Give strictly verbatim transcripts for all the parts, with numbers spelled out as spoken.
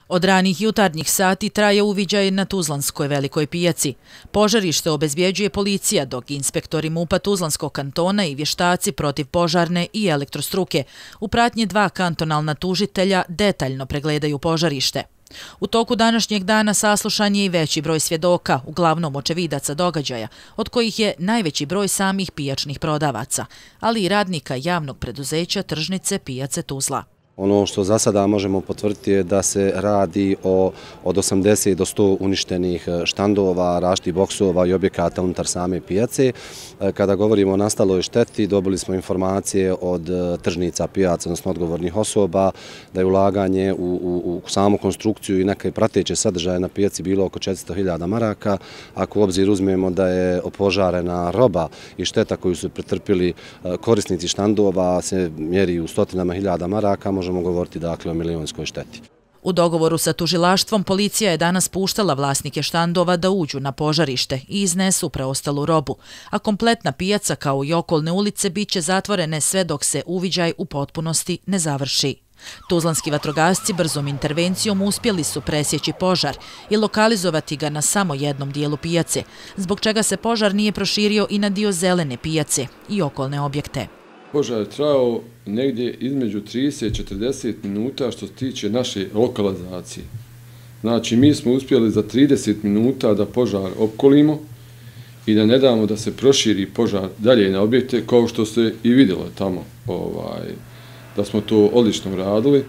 Od ranih jutarnjih sati traje uviđaj na Tuzlanskoj velikoj pijaci. Požarište obezbjeđuje policija, dok inspektori MUP-a Tuzlanskog kantona i vještaci protiv požarne i elektrostruke u pratnji dva kantonalna tužitelja detaljno pregledaju požarište. U toku današnjeg dana saslušan je i veći broj svjedoka, uglavnom očevidaca događaja, od kojih je najveći broj samih pijačnih prodavaca, ali i radnika javnog preduzeća Tržnice pijace Tuzla. Ono što za sada možemo potvrditi je da se radi o od osamdeset do sto uništenih štandova, različitih boksova i objekata unutar same pijace. Kada govorimo o nastaloj šteti, dobili smo informacije od tržnica pijaca, odnosno odgovornih osoba, da je ulaganje u, u, u samu konstrukciju i neke prateće sadržaje na pijaci bilo oko četiristo hiljada maraka. Ako u obzir uzmemo da je opožarena roba i šteta koju su pretrpili korisnici štandova se mjeri u stotinama hiljada maraka, možemo govoriti dakle o milionskoj šteti. U dogovoru sa tužilaštvom policija je danas puštala vlasnike štandova da uđu na požarište i iznesu preostalu robu, a kompletna pijaca kao i okolne ulice bit će zatvorene sve dok se uviđaj u potpunosti ne završi. Tuzlanski vatrogasci brzom intervencijom uspjeli su presjeći požar i lokalizovati ga na samo jednom dijelu pijace, zbog čega se požar nije proširio i na dio zelene pijace i okolne objekte. Požar je trajao negdje između trideset do četrdeset minuta što se tiče naše lokalizacije. Znači, mi smo uspjeli za trideset minuta da požar opkolimo i da ne damo da se proširi požar dalje na objekte, kao što se i vidjelo tamo, ovaj, da smo to odlično radili.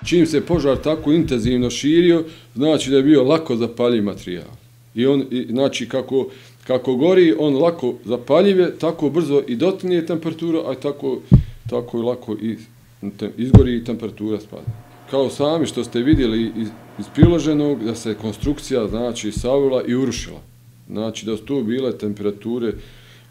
Čim se požar tako intenzivno širio, znači da je bio lako zapaljiv materijal. I on, i, znači, kako Kako gori, on lako zapaljive, tako brzo i dotinje temperaturu, a tako, tako i lako i izgori i temperatura spada. Kao sami što ste vidjeli iz, iz priloženog, da se konstrukcija znači savila i urušila. Znači da su tu bile temperature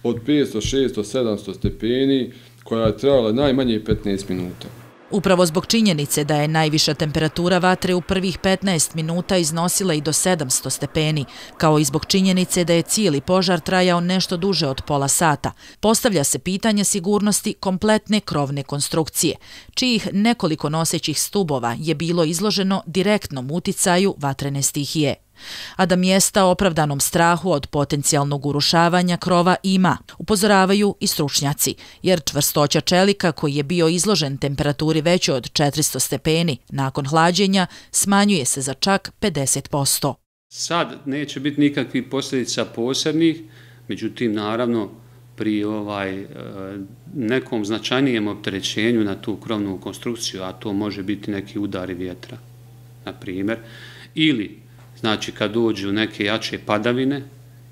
od petsto, šesto, sedamsto stepeni, koja je trajala najmanje petnaest minuta. Upravo zbog činjenice da je najviša temperatura vatre u prvih petnaest minuta iznosila i do sedamsto stepeni, kao i zbog činjenice da je cijeli požar trajao nešto duže od pola sata, postavlja se pitanje sigurnosti kompletne krovne konstrukcije, čijih nekoliko nosećih stubova je bilo izloženo direktnom uticaju vatrene stihije. A da mjesta opravdanom strahu od potencijalnog urušavanja krova ima, upozoravaju i stručnjaci, jer čvrstoća čelika koji je bio izložen temperaturi većoj od četiristo stepeni nakon hlađenja smanjuje se za čak pedeset posto. Sad neće biti nikakvih posljedica posebnih, međutim naravno pri ovaj, nekom značajnijem opterećenju na tu krovnu konstrukciju, a to može biti neki udari vjetra, na primjer, ili znači kad dođu neke jače padavine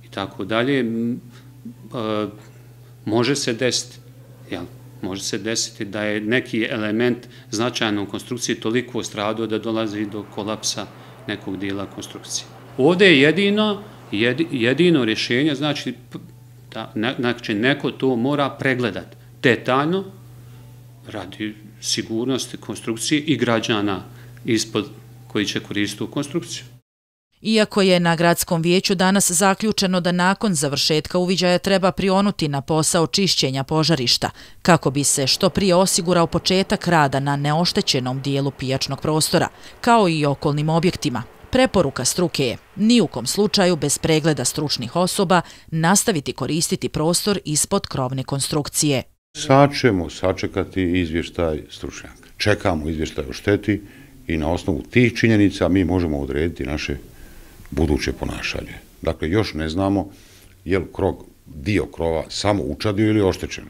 i tako dalje, može se desiti, jel? Može se desiti da je neki element značajno u konstrukciji toliko stradao da dolazi do kolapsa nekog dijela konstrukcije. Ovdje je jedino, jedino rješenje, znači, da, znači neko to mora pregledati detaljno radi sigurnosti konstrukcije i građana ispod koji će koristiti u konstrukciju. Iako je na gradskom vijeću danas zaključeno da nakon završetka uviđaja treba prionuti na posao čišćenja požarišta, kako bi se što prije osigurao početak rada na neoštećenom dijelu pijačnog prostora, kao i okolnim objektima. Preporuka struke je, ni u kom slučaju bez pregleda stručnih osoba, nastaviti koristiti prostor ispod krovne konstrukcije. Sad ćemo sačekati izvještaj stručnjaka. Čekamo izvještaj o šteti i na osnovu tih činjenica mi možemo odrediti naše buduće ponašanje. Dakle, još ne znamo je li krov, dio krova samo učadio ili oštećen.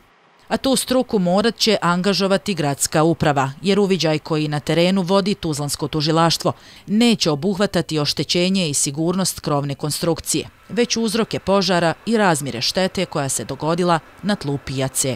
A tu struku morat će angažovati gradska uprava, jer uviđaj koji na terenu vodi Tuzlansko tužilaštvo neće obuhvatati oštećenje i sigurnost krovne konstrukcije, već uzroke požara i razmjere štete koja se dogodila na tlu pijace.